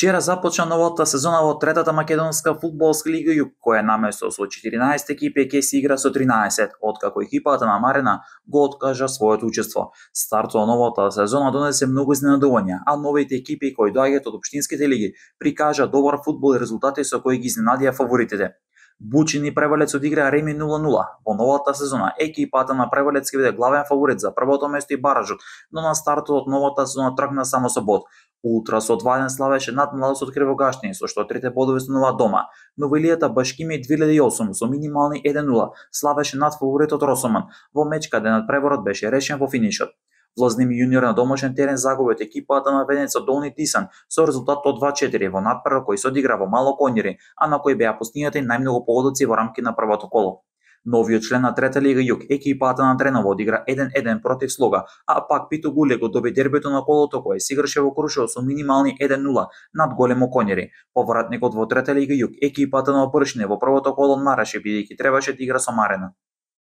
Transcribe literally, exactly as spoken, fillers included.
Вчера започна новата сезона во третата македонска фудбалска лига Југ, која наместо со четиринаесет екипи ќе се игра со тринаесет, откако екипата на Марена го откажа своето учество. Стартот на новата сезона донесе многу изненадувања, а новите екипи кои доаѓаат од општинските лиги прикажа добар фудбал и резултати со кои ги изненадија фаворитите. Бучин и Превалец одиграа реми нула нула. Во новата сезона екипата на Превалец ќе биде главен фаворит за првото место и баражот, но на стартот од новата сезона тргна само со бод. Ултра со два еден славеше над Младост Кривогашни, со што трите бодови станува дома. Но Илијата Башкими две илјади и осум со минимални еден нула славеше над фаворитот Росоман, во меч каде надпреборот беше решен во финишот. Влазним јуниор на домашен терен загуби од екипата на Венеца Долни Тисан со резултат од два четири во надпревар кој се одигра во Мало Коњери, а на кој беа постигнати најмногу погодици во рамки на првото коло. Новиот член на трета лига Југ, екипата на Дренова одигра еден еден против Слога, а пак Пито Гуле го доби дербито на колото кое се играше во Крушево со минимални еден нула над Големо Коњери. Повратникот во трета лига Југ, екипата на Опршне во првото коло мараше бидејќи требаше да игра со Марена.